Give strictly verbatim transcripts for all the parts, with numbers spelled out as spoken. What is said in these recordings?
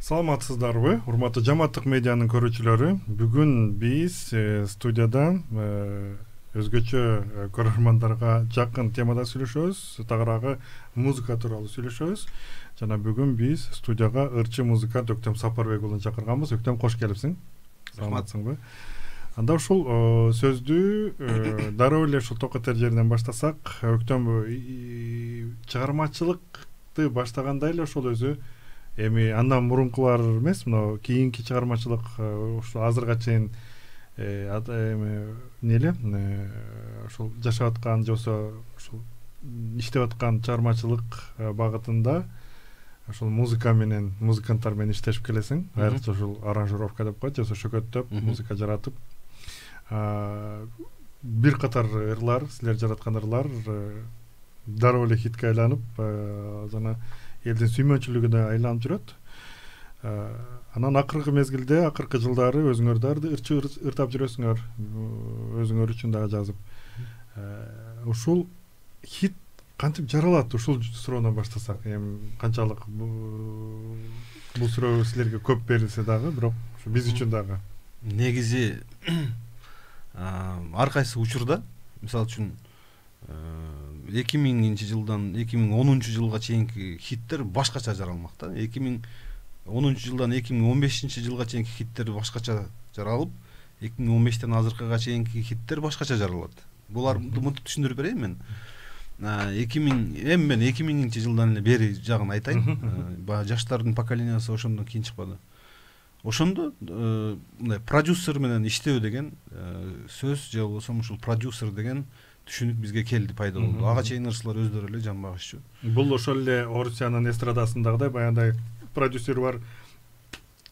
Саламатсыздарбы, урматтуу Жамааттык медианын көрүүчүлөрү. Бүгүн биз студияда өзгөчө көрөрмандарга жакын темада сүйлөшөбүз, тагыраагы музыка тууралуу сүйлөшөбүз. Жана бүгүн биз студияга ырчы музыкант Өктөм Сапарбек уулун чакырганбыз. Өктөм, кош келипсиң. Саламатсыңбы? Анда ушул сөздү дароо эле ушул токотер жеринен баштасак, Өктөм чыгармачылыкты баштаганда эле ошол өзү эми андан мурункулар эмес, мына кийинки чыгармачылык ушул азырга чейин эми неле ошол жашап аткан жосо ушул иштеп аткан чыгармачылык багытында ошол музыка менен, музыканттар менен иштешип келесиң. Айрыкча ушул аранжировка деп коет, жосо шөкөттөп, музыка жаратып. Бир катар ырлар, силер жараткан ырлар дароо эле хитке айланып, жана элдин сүймөнчүлүгү да айланып жүрөт. Анан акыркы мезгилде, акыркы жылдары өзүңөр дагы ырчы ыртап жүрөсүңөр, өзүңөр үчүн дагы жазып. Ушул хит кантип жаралат? Ушул суроондон баштасак, эми канчалык бул суроо силерге көп берилсе дагы, бирок биз үчүн дагы. Негизи ар кайсы учурда, мисалы үчүн эки миңинчи жылдан эки миң онунчу жылга чейинки хиттер башкача жаралмак да. эки миң онунчу жылдан эки миң он бешинчи жылга чейинки хиттер башкача жаралып, эки миң он бештен азыркыга чейинки хиттер башкача жаралат. Буларды мынтип түшүндүрүп берейин мен. эки миң эми мен эки миңинчи жылдан эле бери жагын айтайын. Баягы жаштардын поколениясы ошондон кийин чыкпады. Ошондо мындай продюсер менен иштөө деген сөз же болбосо ушул продюсер деген түшүнүк бизге келди, пайда болду. Ага чейин ырчылар өздөрү эле жанбагыччу. Бул ошол эле Орусиянын эстрадасындагыдай баягындай продюсер бар.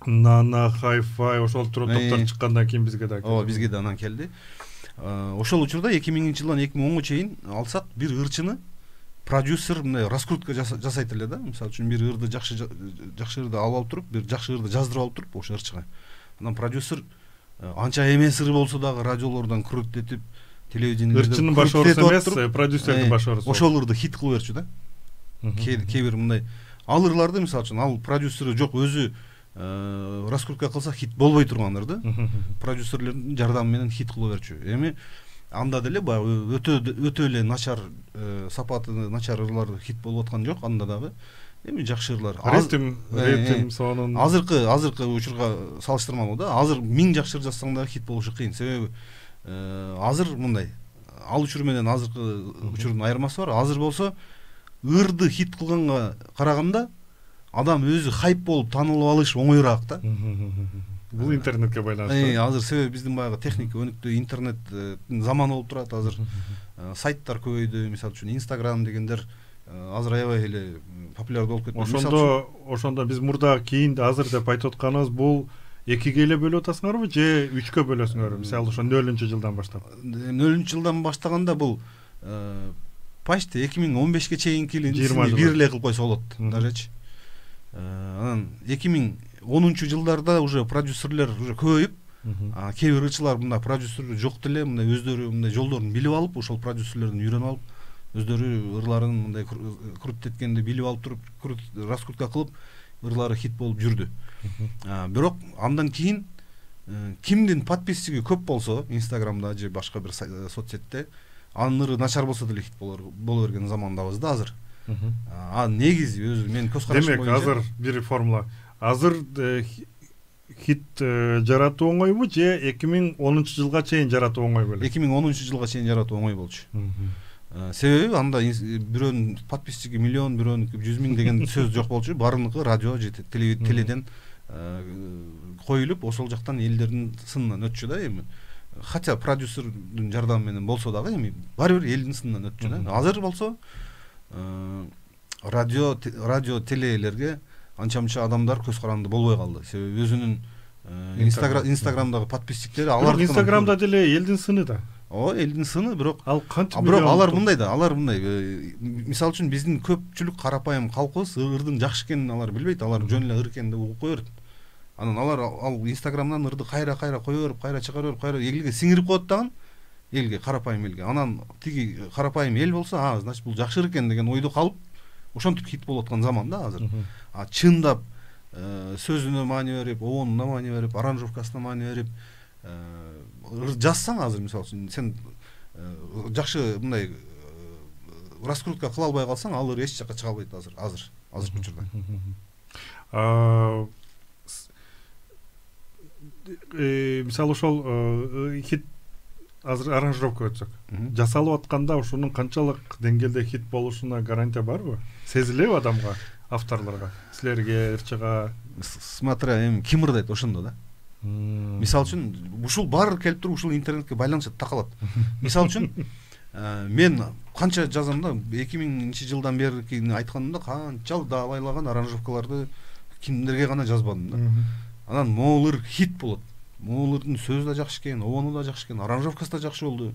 Нана, Hi-Fi ошол топтор чыккандан кийин бизге да келди. Ооба, бизге да анан келди. Ошол учурда эки миңинчи жылдан эки миң онго чейин алсак, бир ырчыны продюсер мындай раскрутка жасайт эле да. Мисалы үчүн бир ырды жакшы жакшы ырды алып алып туруп, бир жакшы ырды жаздырып алып туруп ошо ырчыга. Анан продюсер анча эмес ыр болсо дагы радиолордон крутетип, телевидениелерде ырчынын баш оорусу эмес, продюсердин баш оорусу. Ошол ырды хит кылып берчү да. Кээ бир мындай ал ырларды, мисалы үчүн, ал продюсери жок, өзү раскрутка кылса хит болбой турган ырды продюсерлердин жардамы менен хит кылып берчү. Эми анда деле баягы өтө өтө эле начар, сапаты начар ырлар хит болуп аткан жок, анда дагы эми жакшы ырлар. Ритм, ритм сонун. Азыркы азыркы учурга салыштырмалуу да. Азыр миң жакшы ыр жазсаң дагы хит болушу кыйын. Себеби азыр мындай, ал учур менен азыркы учурдун айырмасы бар. Азыр болсо ырды хит кылганга караганда адам өзү хайп болуп таанылып алыш оңоюраак да. Бул интернетке байланыштуу. Азыр себеби биздин баягы техника өнүктү, интернет заманы болуп турат. Азыр сайттар көбөйдү, мисалы үчүн Instagram дегендер азыр аябай эле популярдуу болуп кетти. Ошондо ошондо биз мурда кийин азыр деп айтып атканыбыз бул экиге эле бөлүп атасыңарбы же үчкө бөлөсүңөр? Мисалы ошо нөлүнчү жылдан баштап. нөлүнчү жылдан баштаганда бул почти эки миң он бешке чейинкини бир эле кылып койсо болот дажечи. Анан эки миң онунчу жылдарда уже продюсерлер уже көбөйүп, кээ бир ырчылар мындай продюсер жок деле, мындай өздөрү мындай жолдорун билип алып, ошол продюсерлерден үйрөнүп алып, өздөрү ырларын мындай крутеткенди билип алып туруп, раскрутка кылып, ырлары хит болуп жүрдү. Бирок андан кийин кимдин подписчиги көп болсо, Instagramда же башка бир соцсетте, анын ыры начар болсо деле хит боло берген замандабыз да азыр. А негизи өзү мен көз карашым боюнча. Демек, азыр бир формула. Азыр хит жаратуу оңойбу же эки миң онунчу жылга чейин жаратуу оңой беле? эки миң онунчу жылга чейин жаратуу оңой болчу. Себеби анда бирөөнүн подписчиги миллион, бирөөнүкү жүз миң деген сөз жок болчу. Баарыныкы радио же теледен коюлуп, ошол жактан элдердин сынынан өтчү да эми. Хотя продюсердин жардамы менен болсо дагы эми баары бир элдин сынынан өтчү да. Азыр болсо радио радио телелерге анча-мынча адамдар көз каранды болбой калды. Себеби өзүнүн Instagramдагы подписчиктери алар Instagramда деле элдин сыны да. Ооба, элдин сыны, бирок ал кантип бирок алар мындай да, алар мындай, мисалы үчүн биздин көпчүлүк карапайым калкыбыз ырдын жакшы экенин алар билбейт, алар жөн эле ыр экенин деп угуп кое берет. Анан алар ал Instagramдан ырды кайра-кайра кое берип, кайра чыгара берип, кайра элге сиңирип коет дагы, элге, карапайым элге. Анан тиги карапайым эл болсо, а значит бул жакшы экен деген ойдо калып, ошентип хит болуп аткан заман да азыр. А чындап сөзүнө маани берип, обонуна маани берип, аранжировкасына маани берип жазсаң азыр, мисалы үчүн сен жакшы мындай раскрутка кыла албай калсаң, ал эч жакка чыга албайт азыр, азыр, азыркы учурда. Мисалы ошол хит азыр аранжировка өтсөк, жасалып атканда ошонун канчалык деңгээлде хит болушуна гарантия барбы? Сезилеби адамга, авторлорго, силерге, РЧга? Смотря эми ким ырдайт ошондо да. Мисалы үчүн ушул баары келип туруп ушул интернетке байланышат, такалат. Мисалы үчүн мен канча жазам да, эки миңинчи жылдан беркини айтканымда канчалык даабайлаган аранжировкаларды кимдерге гана жазбадым да. Анан могулыр хит болот. Могулурдун сөзү да жакшы экен, обону да жакшы экен, аранжировкасы да жакшы болду,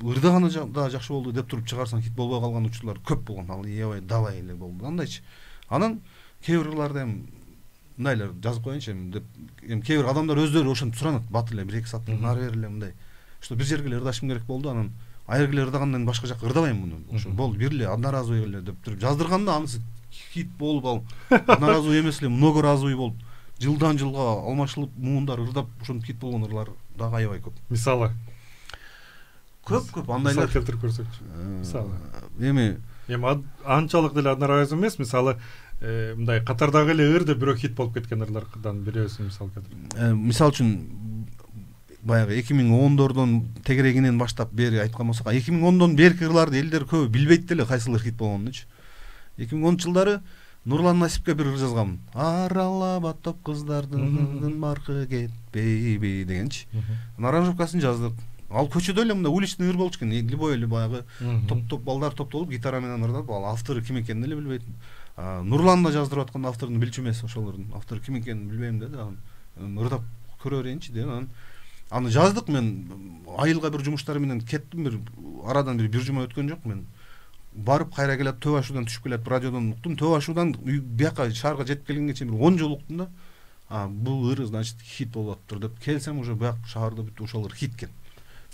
ырдаганы да жакшы болду деп туруп чыгарсаң, хит болбой калган учурлар көп болгон. Ал аябай далай эле болду. Андайчы. Анан кээ бир ырларды эми мындайлар жазып коеюнчу эми деп, эми кээ бир адамдар өздөрү ошентип суранат, бат эле бир эки сааттык нары бери эле мындай. Что бир жерге эле ырдашым керек болду, анан айргы эле ырдагандан башка жакка ырдабайм муну. Ошо болду, бир эле одноразовый эле деп туруп жаздырганда анысы хит болуп, ал одноразовый эмес эле многоразовый болуп, жылдан жылга алмашылып муундар ырдап ошентип хит болгон ырлар дагы аябай көп. Мисалы көп-көп андайлар келтирип көрсөкчү. Мисалы эми эми анчалык деле одноразовый эмес, мисалы мындай катардагы эле ыр деп бирөө хит болуп кеткен ырлардан бирөөсүн мисал келтирип. Мисалы үчүн баягы эки миң ондордон тегерегинен баштап бери айткан болсок, эки миң ондон берки ырларды элдер көбү билбейт деле кайсылыр хит болгонунчу. эки миң онунчу жылдары Нурлан Насипке бир ыр жазгам. Аралап аттап кыздардын маркы кетпейби дегенчи. Аранжировкасын жаздык. Ал көчөдө эле мындай уличный ыр болчу экен. Любой эле баягы топ-топ балдар топтолуп гитара менен ырдап, ал автору ким экенин эле билбейт. Нурлан да жаздырып аткан авторун билчү эмес, ошолордун автору ким экенин билбейм деди. Анан ырдап көрө берейинчи деп анан аны жаздык. Мен айылга бир жумуштар менен кеттим, бир арадан бир бир жума өткөн жок. Мен барып кайра келип Төбө Ашуудан түшүп келип радиодон уктум. Төбө Ашуудан бияка шаарга жетип келгенге чейин бир он жол уктум да. А бул ыр значит хит болуп атыптыр деп келсем, уже бияк шаарда бүт ошол ыр хит экен.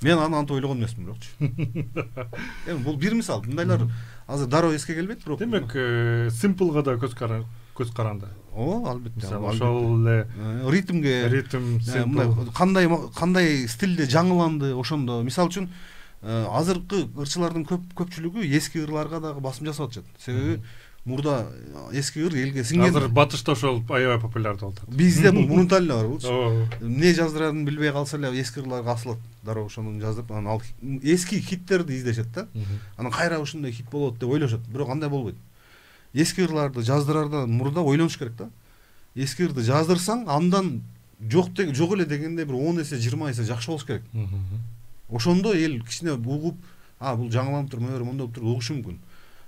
Мен аны антип ойлогон эмесмин бирокчу. Эми бул бир мисал. Мындайлар азыр дароо эске келбейт, бирок. Демек, симплга да көз каран, көз каранды. Ооба, албетте. Ошол эле ритмге, ритм, симпл. Кандай кандай стилде жаңыланды ошондо. Мисалы үчүн азыркы ырчылардын көп көпчүлүгү эски ырларга дагы басым жасап атышат. Себеби мурда эски ыр элге сиңген. Азыр батышта ошол аябай популярдуу болуп атат. Бизде бул мурунтан эле бар болчу. Эмне жаздырарын билбей калса эле эски ырларга асылат. Дароо ошону жазып, анан ал эски хиттерди издешет да. Анан кайра ушундай хит болот деп ойлошот. Бирок андай болбойт. Эски ырларды жаздырардан мурда ойлонуш керек да. Эски ырды жаздырсаң, андан жок жок эле дегенде бир он эсе, жыйырма эсе жакшы болуш керек. Ошондо эл кичине угуп, а бул жаңыланып тур, мөөр мондо тур угушу мүмкүн.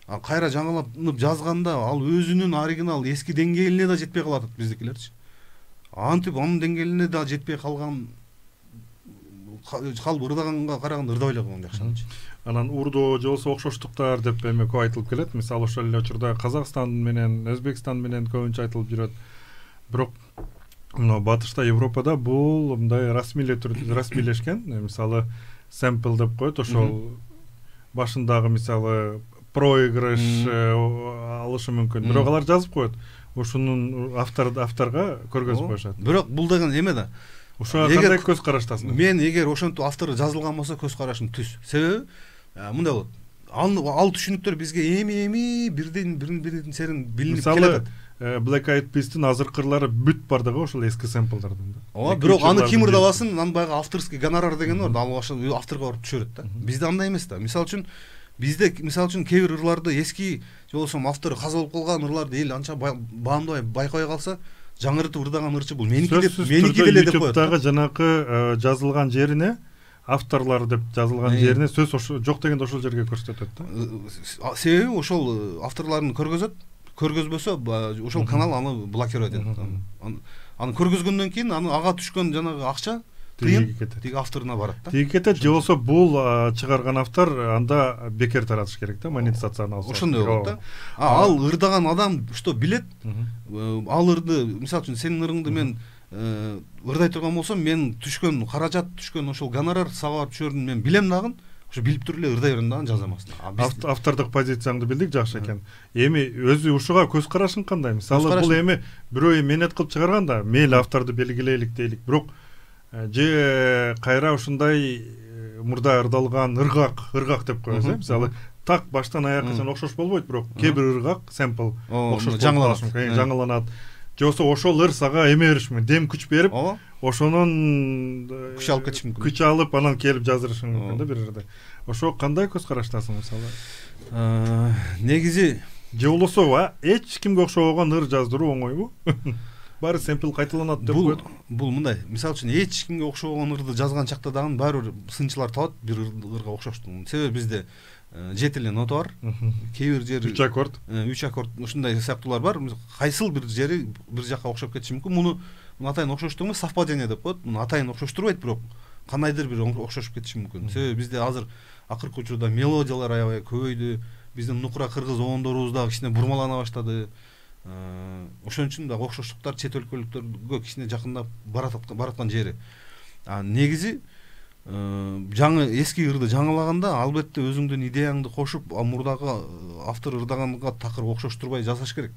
А кайра жаңыланып жазганда ал өзүнүн оригинал эски деңгээлине да жетпей калат биздикилерчи. Антип анын деңгээлине да жетпей калган калып ырдаганга караганда ырдабай эле койгон жакшы. Анан урдоо же болсо окшоштуктар деп эми көп айтылып келет. Мисалы ошол эле учурда Казакстан менен Өзбекстан менен көбүнчө айтылып жүрөт. Бирок мына батышта, Европада бул мындай расмийле расмийлешкен. Мисалы сэмпл деп коет, ошол башындагы мисалы проигрыш алышы мүмкүн. Бирок алар жазып коет. Ошонун автор авторга көргөзүп коюшат. Бирок бул деген эме да. Ошо кандай көз караштасың? Мен эгер ошентип автору жазылган болсо көз карашым түз. Себеби мындай болот. Ал ал түшүнүктөр бизге эми-эми бирден бирин серин билинип келет. Black Eyed Peas'тин азыркы ырлары бүт бардыгы ошол эски сэмплдардан да. Ооба, бирок аны ким ырдабасын, анын баягы авторский гонорар деген бар да, ал ошол авторго барып түшөрөт да. Бизде андай эмес да. Мисалы үчүн бизде мисалы үчүн кээ бир ырларды эски же болбосо автору каза болуп калган ырларды эл анча баамдабай байкабай калса, жаңыртып ырдаган ырчы бул меники деп меники деле деп коет. YouTube'дагы жанакы жазылган жерине, авторлор деп жазылган жерине сөз жок дегенде ошол жерге көрсөтөт да. Себеби ошол авторлорун көргөзөт, көргөзбөсө ошол канал аны блокировать этет. Аны көргөзгөндөн кийин аны ага түшкөн жанагы акча тиги авторуна барат да. Тиги кетет, же болсо бул чыгарган автор анда бекер таратыш керек да, монетизацияны алса. Ошондой болот да. А ал ырдаган адам что билет, ал ырды, мисалы үчүн сенин ырыңды мен ырдай турган болсом, мен түшкөн каражат, түшкөн ошол гонорар сага барып түшөрүн мен билем дагы, ошо билип туруп эле ырдай берем дагы жазам астына. Автордук позицияңды билдик, жакшы экен. Эми өзү ушуга көз карашың кандай? Мисалы бул эми бирөө эмнет кылып чыгарганда, мейли авторду белгилейлик дейлик, бирок же кайра ушундай мурда ырдалган ыргак, ыргак деп коебуз, э? Мисалы так баштан аякка окшош болбойт, бирок кээ бир ыргак, сэмпл окшош жаңыланат, жаңыланат. Же болсо ошол ыр сага эме бериш мүмкүн, дем күч берип, ошонун күч алып кетиш мүмкүн. Күч алып, анан келип жаздырышың мүмкүн да бир ырды. Ошо кандай көз караштасың мисалы? Негизи же болосо эч кимге окшобогон ыр жаздыруу оңойбу? Баары сэмпл кайталанат деп коет. Бул мындай, мисалы үчүн эч кимге окшобогон ырды жазган чакта дагы баары бир сынчылар табат бир ырга окшоштугун. Себеби бизде жети эле нота бар. Кээ бир жери үч аккорд, үч аккорд ушундай сыяктуулар бар. Кайсыл бир жери бир жакка окшоп кетиши мүмкүн. Муну атайын окшоштугу совпадение деп коет. Муну атайын окшоштурбайт, бирок кандайдыр бир окшошуп кетиши мүмкүн. Себеби бизде азыр акыркы учурда мелодиялар аябай көбөйдү. Биздин нукура кыргыз оондорубуз дагы кичине бурмалана баштады. Ошон үчүн дагы окшоштуктар чет өлкөлүктөргө кичине жакындап бараткан жери. Негизи жаңы эски ырды жаңылаганда албетте өзүңдүн идеяңды кошуп, мурдагы автор ырдаганга такыр окшоштурбай жасаш керек.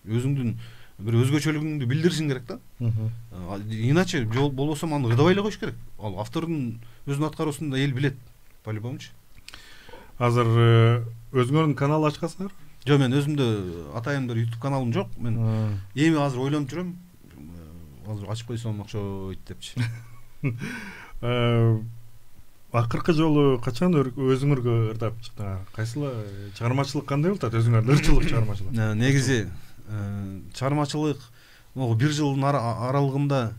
Өзүңдүн бир өзгөчөлүгүңдү билдиришиң керек да. Иначе болбосо аны ырдабай эле коюш керек. Ал автордун өзүнүн аткаруусунда эл билет, по-любомучу. Азыр өзүңөрдүн канал ачкансыңар? Жок, мен өзүмдө атайын бир YouTube каналым жок. Мен эми азыр ойлонуп жүрөм. Азыр ачып койсом окшойт депчи. Акыркы жолу качан өзүңөргө ырдап чыктыңар? Кайсыл чыгармачылык кандай болуп атат өзүңөрдүн ырчылык чыгармачылык? Негизи чыгармачылык могу бир жылдын аралыгында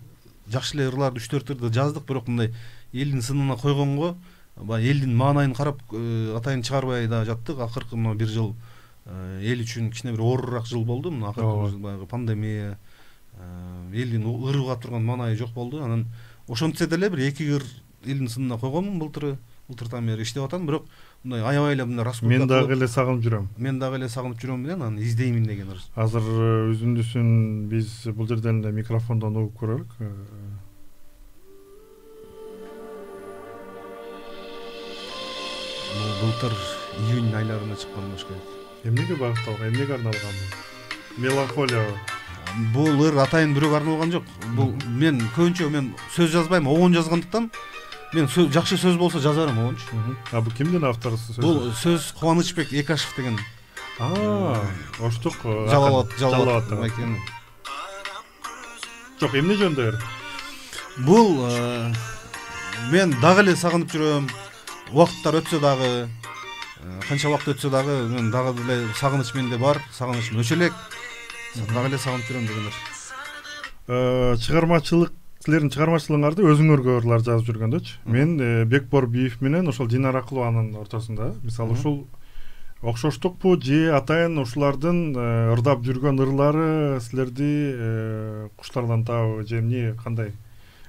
жакшы эле ырларды үч төрт ырды жаздык, бирок мындай элдин сынына койгонго, баягы элдин маанайын карап атайын чыгарбай да жаттык. Акыркы мына бир жыл эл үчүн кичине бир оорураак жыл болду. Мына акыркы баягы пандемия, элдин ыр уга турган маанайы жок болду. Анан ошентсе деле бир эки ыр элдин сынына койгонмун былтыры, былтыртан бери иштеп атам, бирок мындай аябай эле мындай раскрутка. Мен дагы эле сагынып жүрөм. Мен дагы эле сагынып жүрөм менен аны издеймин деген ыр. Азыр үзүндүсүн биз бул жерден эле микрофондон угуп көрөлүк. Былтыр июнь айларында чыккан болуш керек. Эмнеге багытталган, эмнеге арналган бул? Меланхолия. Бул ыр атайын бирөөгө арналган жок. Бул мен көбүнчө мен сөз жазбайм, огон жазгандыктан мен жакшы сөз болсо жазарым огончу. А бул кимдин автору сөз? Бул сөз Кубанычбек Экашев деген. А, оштук. Жалалат, жалалат экен. Жок, эмне жөнүндө ыр? Бул мен дагы эле сагынып жүрөм. Убакыттар өтсө дагы, канча убакыт өтсө дагы мен дагы эле сагыныч менде бар, сагынычым өчө элек. Дагы эле сагынып жүрөм дегендер. Чыгармачылык, силердин чыгармачылыгыңарды өзүңөргө ырлар жазып жүргөндөчү. Мен Бекбор Биев менен ошол Динара Акылованын ортосунда, мисалы ушул окшоштукпу же атайын ушулардын ырдап жүргөн ырлары силерди куштарлантабы же эмне, кандай?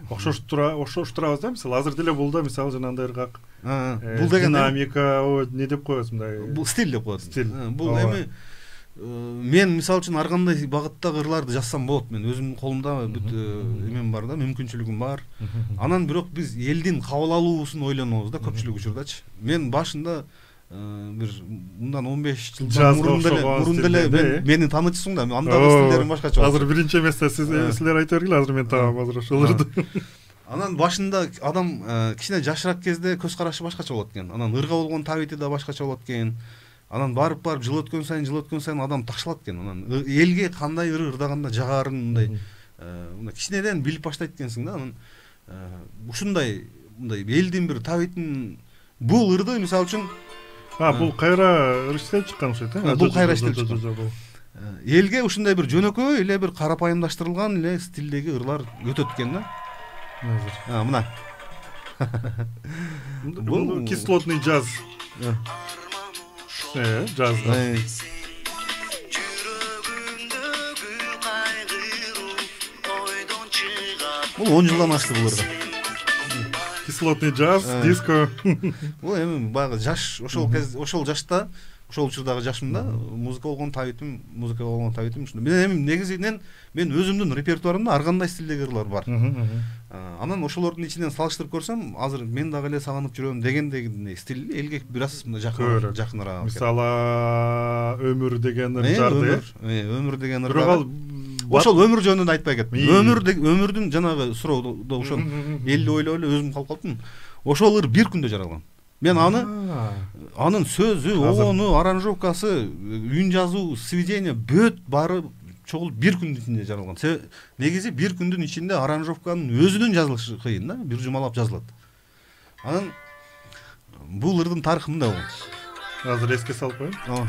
Окшоштура, окшоштурабыз да, мисалы азыр деле бул да мисалы жанагындай ыргак. Бул деген динамика, не деп коебуз мындай? Бул стиль деп коебуз. Стиль. Бул эми мен мисалы үчүн ар кандай багыттагы ырларды жазсам болот. Мен өзүмдүн колумда бүт эмем бар да, мүмкүнчүлүгүм бар. Анан бирок биз элдин кабыл алуусун ойлонобуз да көпчүлүк учурдачы. Мен башында бир мындан он беш жылдан мурун деле мурун деле мени таанычысың да, андагы стилдерим башкача. Азыр биринчи эместе сиз силер айта бергиле, азыр мен таам азыр ошолорду. Анан башында адам кичине жашыраак кезде көз карашы башкача болот экен. Анан ырга болгон табити да башкача болот экен. Анан барып барып жыл өткөн сайын, жыл өткөн сайын адам такшалат экен. Анан элге кандай ыр ырдаганда жагарын мындай мындай кичинеден билип баштайт экенсиң да. Анан ушундай мындай элдин бир табитин бул ырды мисалы үчүн А, бул кайра ыр иштеп чыккан окшойт, э? Бул кайра иштеп чыккан. Элге ушундай бир жөнөкөй эле бир карапайымдаштырылган эле стилдеги ырлар өтөт экен да. Азыр. А, мына. Бул кислотный джаз. Э, джаз. Бул он жылдан ашты бул ырда. Кислотный джаз, диско. Бул эми баягы жаш, ошол кез, ошол жашта ошол учурдагы жашымда музыка болгон табитим, музыка болгон табитим ушундай. Мен эми негизинен мен өзүмдүн репертуарымда ар кандай стилдеги ырлар бар. Анан ошолордун ичинен салыштырып көрсөм, азыр мен дагы эле сагынып жүрөм дегендей стиль элге бир аз мындай жакын жакыныраак. Мисалы өмүр деген ыр жарды. Өмүр деген ыр. Ошол өмүр жөнүндө айтпай кеттим. Өмүр өмүрдүн жанагы суроодо ошол элди ойлоп эле өзүм калып калдым. Ошол ыр бир күндө жаралган. Мен аны анын сөзү, огону, аранжировкасы, үн жазуу, сведение бүт баары чогул бир күндүн ичинде жаралган. Негизи бир күндүн ичинде аранжировканын өзүнүн жазылышы кыйын да, бир жумалап жазылат. Анан бул ырдын тарыхы мындай болгон. Азыр эске салып коеюн.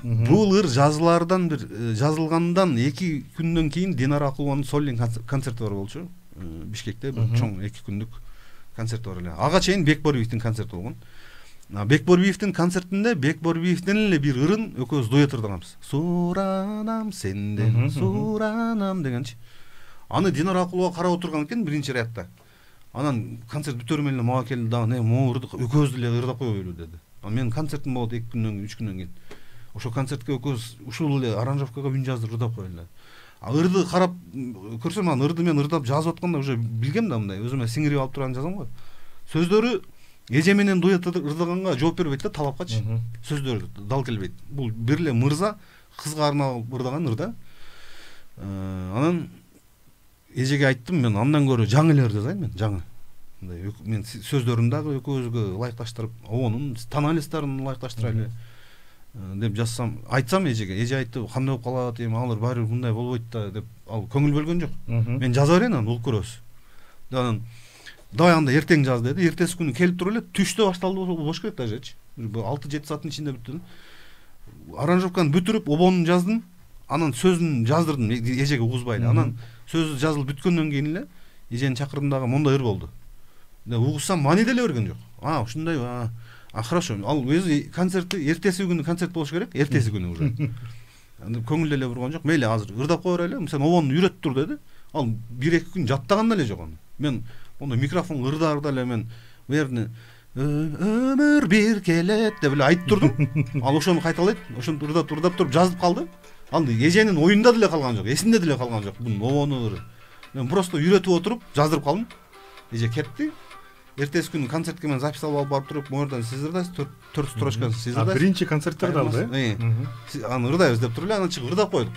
Бул ыр жазылаардан бир жазылгандан эки күндөн кийин Динара Акулованын сольный концерти бар болчу. Бишкекте бир чоң эки күндүк концерт бар эле. Ага чейин Бекборбиевдин концерти болгон. Бекборбиевдин концертинде Бекборбиевдин эле бир ырын экөөбүз дуэт ырдаганбыз. Суранам сенден, суранам дегенчи. Аны Динара Акулова карап отурган экен биринчи рядда. Анан концерт бүтөр менен мага келди дагы, "Не, могу экөөбүз деле ырдап коелу" деди. Мен концертим болот эки күндөн кийин, үч күндөн кийин. Ошол концертке экөөбүз ушул эле аранжировкага үн жаздырып ырдап коелу. А ырды карап көрсөм, анан ырды мен ырдап жазып атканда уже билгем да, мындай өзүмө сиңирип алып турган жазам го. Сөздөрү эже менен дуэт ырдаганга жооп бербейт да, талапкачы. Сөздөрү дал келбейт. Бул бир эле мырза кызга арналып ырдаган ыр да. Анан эжеге айттым, мен андан көрө жаңы эле ыр жазайын мен, жаңы. Мындай мен сөздөрүн дагы экөөбүзгө ылайыкташтырып, онун тоналисттарын ылайыкташтырайлы деп жазсам, айтсам эжеге, эже айтты, кандай болуп калат, эми алар баары бир мындай болбойт да деп, ал көңүл бөлгөн жок. Мен жаза берейин анан угуп көрөбүз. Анан давай анда эртең жаз деди. Эртеси күнү келип туруп эле түштө башталды болуш керек дажечи. алты жети сааттын ичинде бүттү. Аранжировканы бүтүрүп, обонун жаздым. Анан сөзүн жаздырдым эжеге угузбай эле. Анан сөзү жазылып бүткөндөн кийин эле эжени чакырдым дагы, мондай ыр болду. Угузсам мани деле берген жок. А, ушундай, а, а хорошо. Ал өзү концертти эртеси күнү концерт болуш керек, эртеси күнү уже. Көңүл деле бурган жок. Мейли азыр ырдап кое берели, сен обонду үйрөтүп тур деди. Ал бир эки күн жаттаган деле жок аны. Мен ону микрофон ырда ырда эле мен берни өмүр бир келет деп эле айтып турдум. Ал ошону кайталайт, ошентип ырдап ырдап туруп жазып калды. Ал эженин оюнда деле калган жок, эсинде деле калган жок. Бунун обону ыры. Мен просто үйрөтүп отуруп жаздырып калдым. Эже кетти. Эртеси күнү концертке мен запись алып барып туруп, моердон сиз ырдайсыз, төрт строчкасын сиз ырдайсыз. А биринчи концерттерди алды, э? Аны ырдайбыз деп туруп эле, анан чыгып ырдап койдук.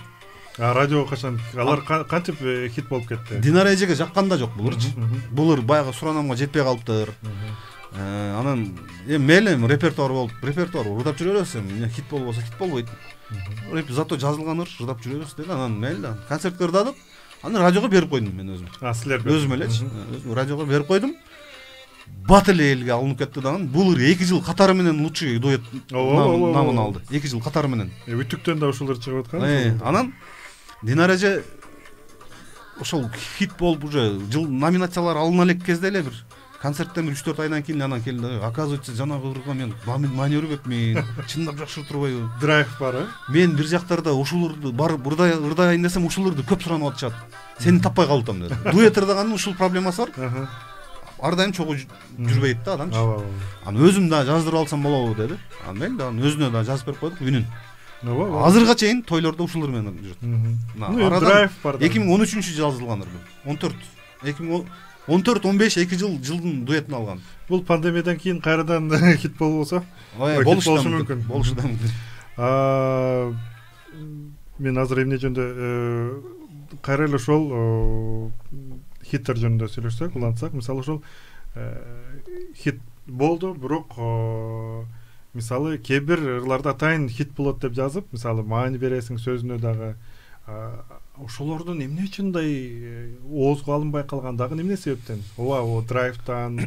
А радиого качан алар кантип хит болуп кетти? Динара эжеге жаккан да жок бул ырчы. Бул ыр баягы суранамга жетпей калыптыр. Анан эми мейли репертуар болуп, репертуар ырдап жүрө беребиз, эми хит болбосо хит болбойт. Зато жазылган ыр ырдап жүрө беребиз деди. Анан мейли концертке ырдадык. Аны радиого берип койдум мен өзүм. А силер өзүм элечи. Радиого берип койдум. Бат эле элге алынып кетти дагы. Бул ыр эки жыл катары менен лучший дуэт намын алды. эки жыл катары менен. Үтүктөн да ушул ыр чыгып аткан. Анан Динара эже ошол хит болуп уже жыл номинациялар алына элек кезде эле бир концерттен үч төрт айдан кийин анан келди. Оказывается, жанагы ырга мен мани өрбөпмүн. Чындап жакшы турбайбы? Драйв бар, э? Мен бир жактарда ушул ырды барып ырдай ырдайын десем, ушул ырды көп суранып атышат. Сени таппай калып атам деди. Дуэт ырдаганын ушул проблемасы бар. Ар дайым чогуу жүрбөйт да адамчы. Анан өзүм да жаздырып алсам болобу деди. Анан мен да өзүнө да жазып берип койдук үнүн. Азырга чейин тойлордо ушул ыр менен жүрөт. Драйв бар. эки миң он үчүнчү жылы жазылган ыр бул. он төрт. эки миң он төрт он беш эки жыл жылдын дуэтин алган. Бул пандемиядан кийин кайрадан хит болбосо? Болушу мүмкүн. Болушу да мүмкүн. А мен азыр эмне жөнүндө кайра эле ошол хиттер жөнүндө сүйлөшсөк, улантсак, мисалы ошол хит болду, бирок мисалы кээ бир ырларда атайын хит болот деп жазып, мисалы маани бересиң сөзүнө дагы, ошолордун эмне үчүн мындай оозго алынбай калган, дагы эмне себептен? Ооба, о драйвтан,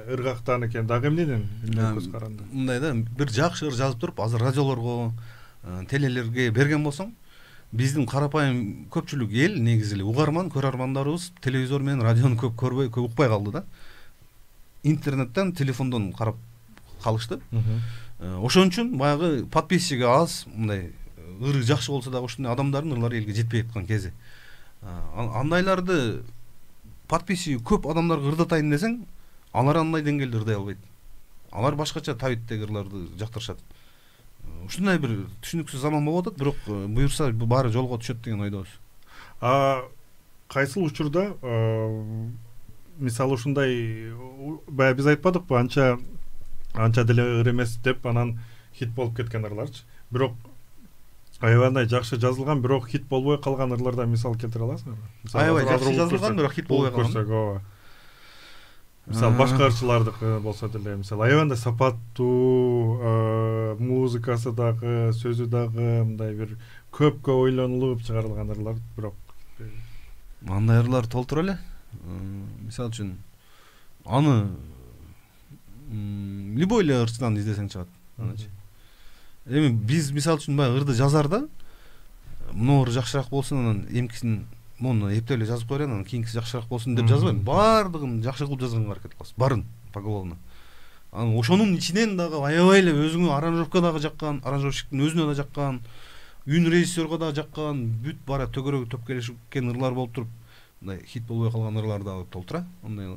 ыргактан экен, дагы эмнеден көз каранды? Мындай да, бир жакшы ыр жазып туруп, азыр радиолорго, телелерге берген болсоң, биздин карапайым көпчүлүк эл негизи эле угарман, көрөрмандарыбыз телевизор менен радиону көп көрбөй, көп укпай калды да. Интернеттен, телефондон карап калышты. Ошон үчүн баягы подписчиги аз, мындай ыры жакшы болсо дагы ушундай адамдардын ырлары элге жетпей аткан кези. Андайларды подписчиги көп адамдарга ырдатайын десең, алар андай деңгээлде ырдай албайт. Алар башкача табиттеги ырларды жактырышат. Ушундай бир түшүнүксүз заман болуп атат, бирок буюрса баары жолго түшөт деген ойдобуз. А кайсыл учурда мисалы ушундай баягы биз айтпадыкпы, анча анча деле ыр эмес деп анан хит болуп кеткен ырларчы. Бирок аябай жакшы жазылган, бирок хит болбой калган ырлардан мисал келтире аласыңарбы? Аябай жакшы жазылган, бирок хит болбой калган. Мисалы башка ырчылардыкы болсо деле, мисалы аябай сапаттуу, музыкасы дагы, сөзү дагы мындай бир көпкө ойлонулуп чыгарылган ырлар, бирок андай ырлар толтура эле. Мисалы үчүн аны любой эле ырчыдан издесең чыгат. Эми биз мисалы үчүн баягы ырды жазарда мына ыр жакшыраак болсун, анан эмкисин муну эптеп эле жазып коелу, анан кийинкиси жакшыраак болсун деп жазбайм. Баардыгын жакшы кылып жазганга аракет кылабыз. Барын поголовно. Анан ошонун ичинен дагы аябай эле өзүңө аранжировка дагы жаккан, аранжировщиктин өзүнө да жаккан, үн режиссерго дагы жаккан, бүт бара төгөрөгү топ келишкен ырлар болуп туруп, мындай хит болбой калган ырлар дагы толтура. Андай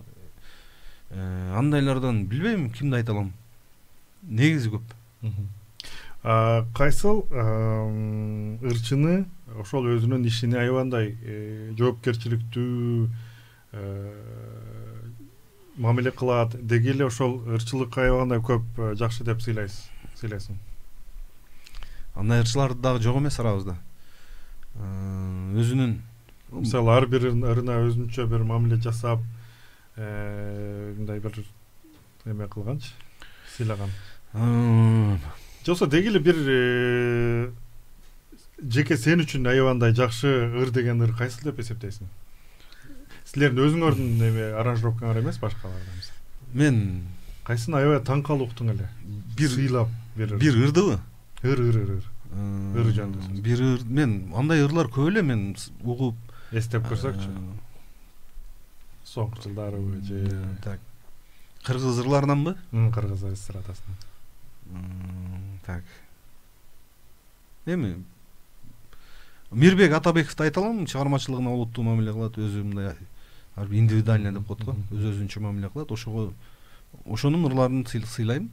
андайлардан билбейм кимди айта алам. Негизи көп. Кайсыл ырчыны ошол өзүнүн ишине аябандай жоопкерчиликтүү мамиле кылат, деги эле ошол ырчылыкка аябагандай көп жакшы деп сыйлайсыз, сыйлайсың? Андай ырчылар дагы жок эмес арабызда. Өзүнүн мисалы ар бир ырына өзүнчө бир мамиле жасап, мындай бир эме кылганчы, сыйлаган. Жоксо деги эле бир жеке сен үчүн аябандай жакшы ыр деген ыр кайсыл деп эсептейсиң? Силердин өзүңөрдүн эме аранжировкаңар эмес, башкалардан мисалы. Мен кайсын аябай таң калып уктуң эле? Бир сыйлап бир бир ырдыбы? Ыр ыр ыр ыр. Ыр жөнүндө. Бир ыр, мен андай ырлар көп эле мен угуп эстеп көрсөкчү. Соңку жылдарыбы же так. Кыргыз ырларынанбы? Кыргыз эстрадасынан. Так. Эми Мирбек Атабековду айта алам, чыгармачылыгына олуттуу мамиле кылат, өзү мындай индивидуально деп коет го, өз-өзүнчө мамиле кылат. Ошого ошонун ырларын сыйлайм.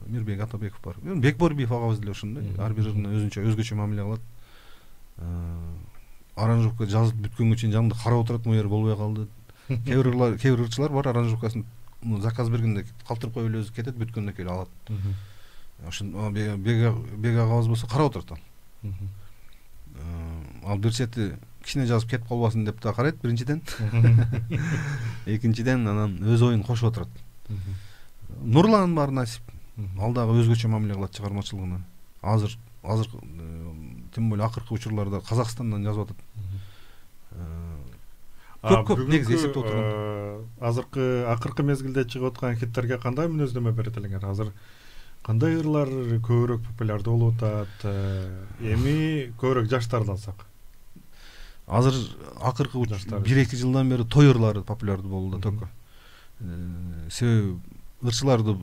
Мирбек Атабеков бар. Бекборбиев агабыз деле ошондой, ар бир ырына өзүнчө өзгөчө мамиле кылат. Аранжировка жазып бүткөнгө чейин жанымда карап отурат, могу болбой калды. Кээ бир ырлар, кээ бир ырчылар бар, аранжировкасын заказ бергенде калтырып коюп эле өзү кетет, бүткөндөн кийин алат. Ошон Бек агабыз болсо карап отурат ал. Ал бир чети кичине жазып кетип калбасын деп да карайт биринчиден. Экинчиден анан өз оюн кошуп отурат. Нурлан бар насип. Ал дагы өзгөчө мамиле кылат чыгармачылыгына. Азыр азыр тем более акыркы учурларда Казакстандан жазып атат. Көп көп негизи эсептеп отурган. Азыркы акыркы мезгилде чыгып аткан хиттерге кандай мүнөздөмө берет элеңер? Азыр кандай ырлар көбүрөөк популярдуу болуп атат? Эми көбүрөөк жаштарды алсак. Азыр акыркы бир эки жылдан бери той ырлары популярдуу болду да только. Себеби ырчыларды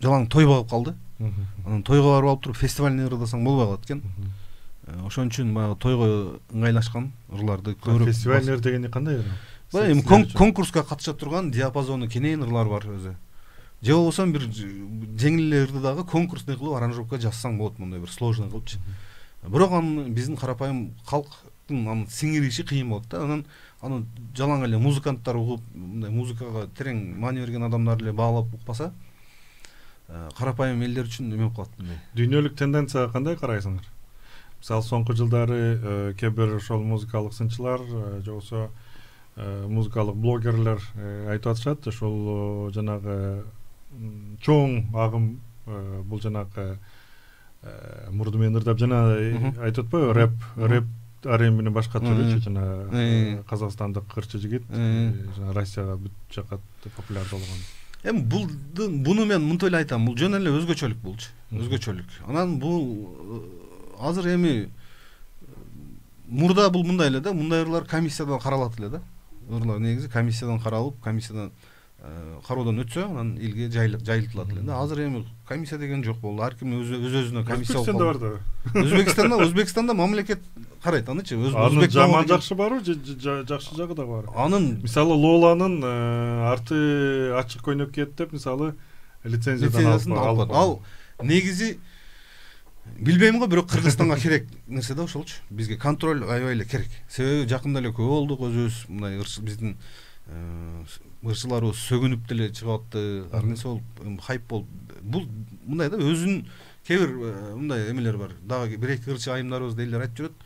жалаң той багып калды. Анан тойго барып алып туруп фестивальный ырдасаң болбой калат экен. Ошон үчүн баягы тойго ыңгайлашкан ырларды көбүрөөк. Фестивальный ыр дегени кандай ыр? Эми конкурска катыша турган диапазону кенен ырлар бар өзү. Же болбосо бир жеңил эле ырды дагы конкурсный кылып аранжировка жазсаң болот, мындай бир сложный кылыпчы. Бирок аны биздин карапайым калктын аны сиңириши кыйын болот да. Анан аны жалаң эле музыканттар угуп, мындай музыкага терең маани берген адамдар эле баалап укпаса, карапайым элдер үчүн эме болуп калат мындай. Дүйнөлүк тенденцияга кандай карайсыңар? Мисалы соңку жылдары кээ бир ошол музыкалык сынчылар, же болбосо музыкалык блогерлер айтып атышат, ошол жанагы чоң агым, бул жанагы мурду менен ырдап жана айтып атпайбы, рэп, рэп ар эмнени башка түрүчү жана казакстандык ырчы жигит жана Россияга бүт жака популярдуу болгон. Эми бул буну мен мынтип эле айтам, бул жөн эле өзгөчөлүк болчу, өзгөчөлүк. Анан бул азыр эми мурда бул мындай эле да, мындай ырлар комиссиядан каралат эле да. Ырлар негизи комиссиядан каралып, комиссиядан кароодон өтсө анан элге жайылтылат эле да. Азыр эми комиссия деген жок болду. Ар ким өз өзүнө комиссия болуп Өзбекстанда бар да. Өзбекстанда Өзбекстанда мамлекет карайт анычы. Анын жаман жакшы барбы, жакшы жагы да бар. Анын мисалы Лоланын арты ачык көйнөк кийет деп мисалы лицензиядан алып. Ал негизи билбейм го, бирок Кыргызстанга керек нерсе да ошолчу. Бизге контроль аябай эле керек. Себеби жакында эле көп болдук өзүбүз мындай биздин ырчыларыбыз сөгүнүп деле чыгып атты. Ар нерсе болуп хайп болуп. Бул мындай да өзүнүн кээ бир мындай эмелер бар. Дагы бир эки ырчы айымдарыбыз делер айтып жүрөт.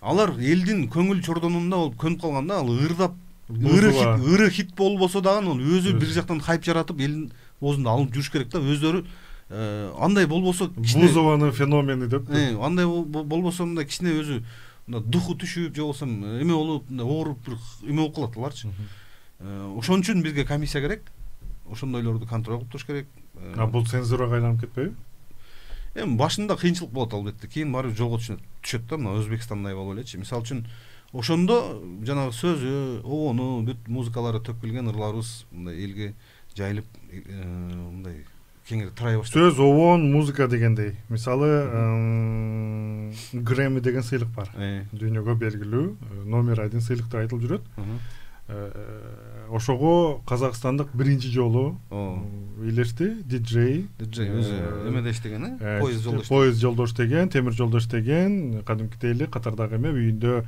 Алар элдин көңүл чордонунда болуп көнүп калганда, ал ырдап ыры хит, ыры хит болбосо дагы ал өзү бир жактан хайп жаратып элдин оозунда алып жүрүш керек да. Өздөрү андай болбосо Бузованын феномени деп. Андай болбосо мындай кичине өзү мындай духу түшүп, же болбосо эме болуп, мындай ооруп бир эме болуп калат аларчы. Ошон үчүн бизге комиссия керек. Ошондойлорду контроль кылып туруш керек. А бул цензурага айланып кетпейби? Эми башында кыйынчылык болот албетте. Кийин барып жолго түшөт да, мына Өзбекстандай болуп элечи. Мисалы үчүн ошондо жанагы сөзү, обону, бүт музыкалары төкүлгөн ырларыбыз мындай элге жайылып мындай кеңири тарай баштады. Сөз, обон, музыка дегендей. Мисалы Грэмми деген сыйлык бар. Дүйнөгө белгилүү номер один сыйлык деп айтылып жүрөт. Ошого Казакстандык биринчи жолу илешти, диджей. Диджей өзү эмеде иштеген, э? Поезд жолдо иштеген. Поезд жолдо иштеген, темир жолдо иштеген, кадимкидей эле катардагы эме үйүндө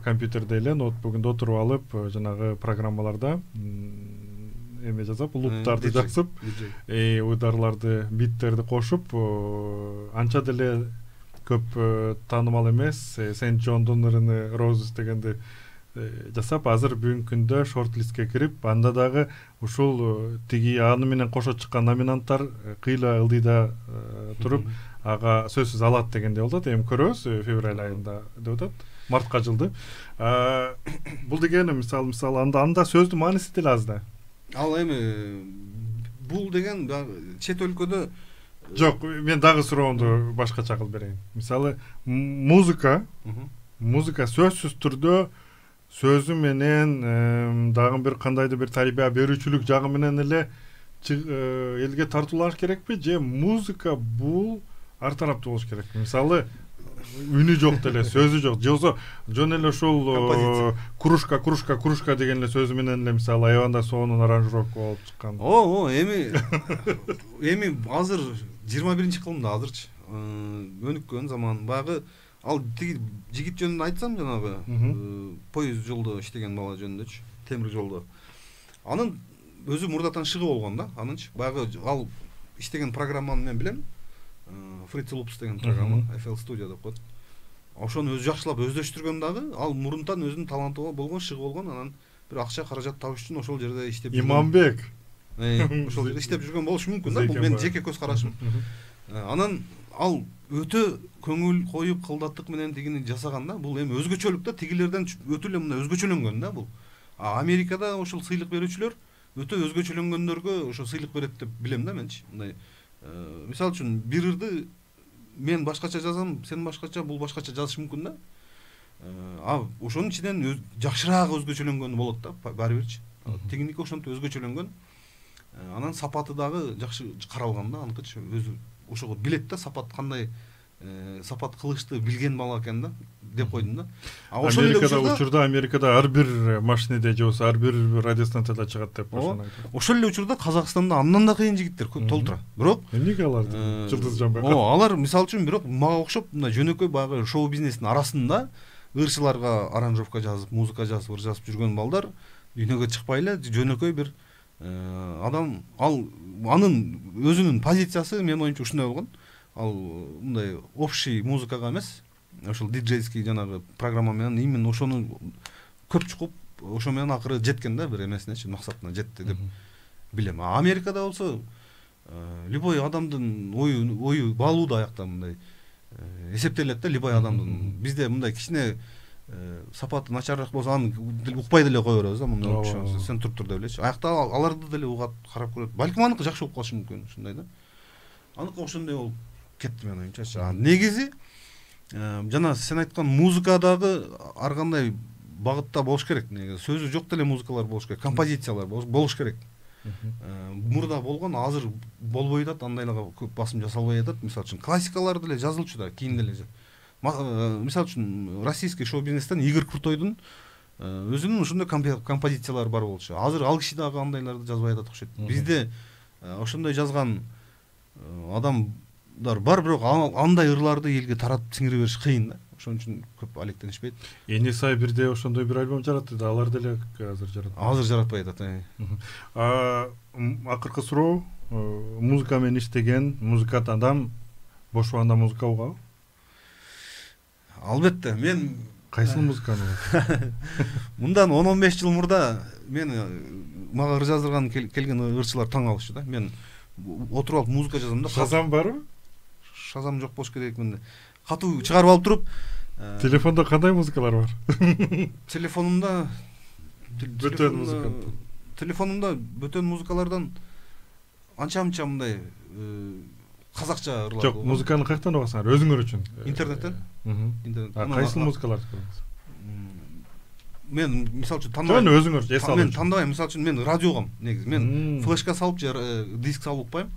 компьютерде эле ноутбугунда отуруп алып, жанагы программаларда эме жазып, луптарды жазып, уйдарларды, биттерди кошуп, анча деле көп таанымал эмес, Сент Джондун ырыны Roses дегенди жасап, азыр бүгүнкү күндө шорт-листке кирип, анда дагы ушул тиги аны менен кошо чыккан номинанттар кыйла ылдыйда туруп, ага сөзсүз алат дегенде болот. Эми көрөбүз февраль айында деп атат. Мартка жылды. Бул деген мисал мисал анда анда сөздүн мааниси деле аз да. Ал эми бул деген чет өлкөдө жок, мен дагы сурооңду башкача кылып берейин. Мисалы музыка, музыка сөзсүз түрдө сөзү менен дагы бир кандайдыр бир тарбия берүүчүлүк жагы менен эле элге тартуулаш керекпи, же музыка бул ар тараптуу болуш керек? Мисалы үнү жок деле, сөзү жок, же болбосо жөн эле ушул кружка, кружка, кружка деген эле сөзү менен эле мисалы Айванда соонун аранжировка болуп чыккан. О, эми эми азыр жыйырма биринчи кылымда азырчы өнүккөн заман. Багы ал тиги жигит жөнүндө айтсам, жанагы поезд жолдо иштеген бала жөнүндөчү, темир жолдо. Анын өзү мурдатан шыгы болгон да, анынчы. Багы ал иштеген программаны мен билем. Fritz Loops деген программа, эф эл Studio деп коет. Ошону өзү жакшылап өздөштүргөн дагы, ал мурунтан өзүнүн таланты болгон, шыгы болгон, анан бир акча каражат табыш үчүн ошол жерде иштеп жүргөн. Иманбек. Ошол жерде иштеп жүргөн болушу мүмкүн да, бул менин жеке көз карашым. Анан ал өтө көңүл коюп, кылдаттык менен тигини жасаган да, бул эми өзгөчөлүк да, тигилерден өтө эле мындай өзгөчөлөнгөн да бул. Америкада ошол сыйлык берүүчүлөр өтө өзгөчөлөнгөндөргө ошо сыйлык берет деп билем да менчи. Мындай мисалы үчүн бир ырды мен башкача жазам, сен башкача, бул башкача жазыш мүмкүн да. А ошонун ичинен жакшыраак өзгөчөлөнгөнү болот да, баары бирчи. Тигиники ошентип өзгөчөлөнгөн. Анан сапаты дагы жакшы каралган да, аныкычы өзү ошого билет да, сапат кандай сапат кылышты билген бала экен да деп койдум да. А ошол эле учурда Америкада ар бир машинеде же болбосо ар бир радиостанцияда чыгат деп ошону айтат. Ошол эле учурда Казакстанда андан да кыйын жигиттер толтура. Бирок эмнеге алар жылдыз жанбай? О, алар мисалы үчүн бирок мага окшоп мындай жөнөкөй багы шоу бизнестин арасында ырчыларга аранжировка жазып, музыка жазып, ыр жазып жүргөн балдар дүйнөгө чыкпай эле жөнөкөй бир адам, ал анын өзүнүн позициясы менин оюмча ушундай болгон. Ал мындай общий музыкага эмес, ошол диджейский жанагы программа менен именно ошону көп чукуп, ошо менен акыры жеткен да бир эмесинечи, максатына жетти деп билем. А Америкада болсо любой адамдын ою ою баалуу да аякта мындай эсептелет да, любой адамдын. Бизде мындай кичине сапаты начарыраак болсо аны укпай деле кое беребиз да, мындай сен туруп тур деп элечи. Аякта аларды деле угат, карап көрөт. Балким аныкы жакшы болуп калышы мүмкүн, ушундай да. Аныкы ошондой болуп кетти менин оюмча. Негизи жана сен айткан музыкадагы ар кандай багытта болуш керек. Негизи сөзү жок деле музыкалар болуш керек, композициялар болуш керек. Мурда болгон азыр болбой атат, андайларга көп басым жасалбай атат. Мисалы үчүн классикалар деле жазылчу да, кийин деле. Мисалы үчүн российский шоу-бизнестен Игорь Крутойдун өзүнүн ушундай композициялары бар болчу. Азыр ал киши дагы андайларды жазбай атат окшойт. Бизде ошондой жазган адамдар бар, бирок андай ырларды элге таратып сиңире бериш кыйын да. Ошон үчүн көп алектенишпейт. Эни сай бирде ошондой бир альбом жаратты да, алар деле азыр жаратпайт. Азыр жаратпай атат. А акыркы суроо, музыка менен иштеген музыкант адам бош убагында музыка угабы? Албетте, мен кайсыл музыканы? Мындан он он беш жыл мурда мен мага ыр жаздырган келген ырчылар таң калышчу да. Мен отуруп алып музыка жазам да. Шазам барбы? Шазам жок болуш керек. Мен катуу чыгарып алып туруп, телефондо кандай музыкалар бар? Телефонумда бөтөн музыка. Телефонумда бөтөн музыкалардан анча-мынча мындай казакча ырлар. Жок, музыканы каяктан угасыңар? Өзүңөр үчүн? Интернеттен. Интернеттен. Кайсыл музыкаларды көрөсүңөр? Мен мисалы үчүн тандабайм. Жөн өзүңөр эс алып. Мен тандабайм, мисалы үчүн мен радиогам негизи. Мен флешка салып же диск салып укпайм.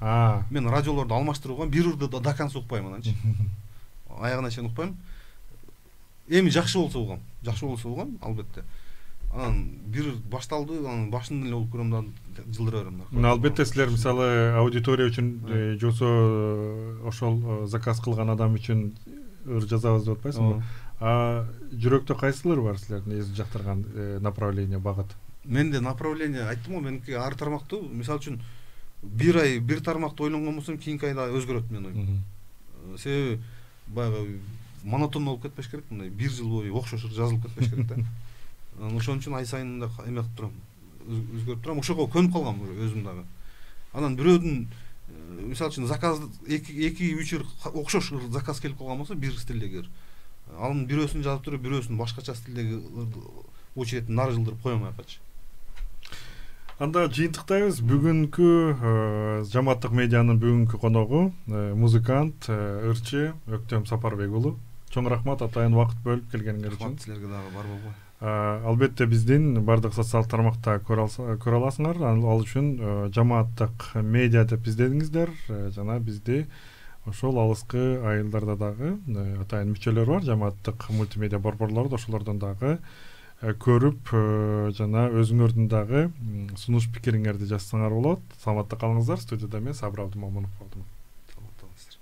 Мен радиолорду алмаштырып укам, бир ырды до конца укпайм ананчы. Аягына чейин укпайм. Эми жакшы болсо угам. Жакшы болсо угам, албетте. Анан бир башталды, анан башынан эле угуп көрөм да жылдыра берем да. Мына албетте силер мисалы аудитория үчүн жосо ошол заказ кылган адам үчүн ыр жазабыз деп атпайсыңбы? А жүрөктө кайсылар бар силердин эзип жактырган направление, багыт? Менде направление айттым го, меники ар тармактуу. Мисалы үчүн бир ай бир тармакты ойлонгон болсом, кийинки айда өзгөрөт менин оюм. Себеби баягы монотон болуп кетпеш керек, мындай бир жыл бою окшош жазылып кетпеш керек да. Ошон үчүн ай сайын да эме кылып турам, өзгөртүп турам. Ошого көнүп калгам өзүм дагы. Анан бирөөдүн мисалы үчүн заказ эки үч ыр окшош заказ келип калган болсо, бир стилдеги анын бирөөсүн жазып туруп, бирөөсүн башкача стилдеги очередин нары жылдырып коем аякачы. Анда жыйынтыктайбыз. Бүгүнкү жамааттык медианын бүгүнкү коногу музыкант, ырчы Өктөм Сапарбек уулу. Чоң рахмат атайын убакыт бөлүп келгениңер үчүн. Рахмат силерге дагы, бар болбой. Албетте биздин бардык социалдык тармакта көрө аласыңар. Ал үчүн жамааттык медиа деп издедиңиздер жана бизди ошол алыскы айылдарда дагы атайын мүчөлөр бар, жамааттык мультимедиа борборлору, ошолордон дагы көрүп жана өзүңөрдүн дагы сунуш пикириңерди жазсаңар болот. Саламатта калыңыздар. Студияда мен Сабыр Абдымомунов болдум. Саламатта болуңуздар.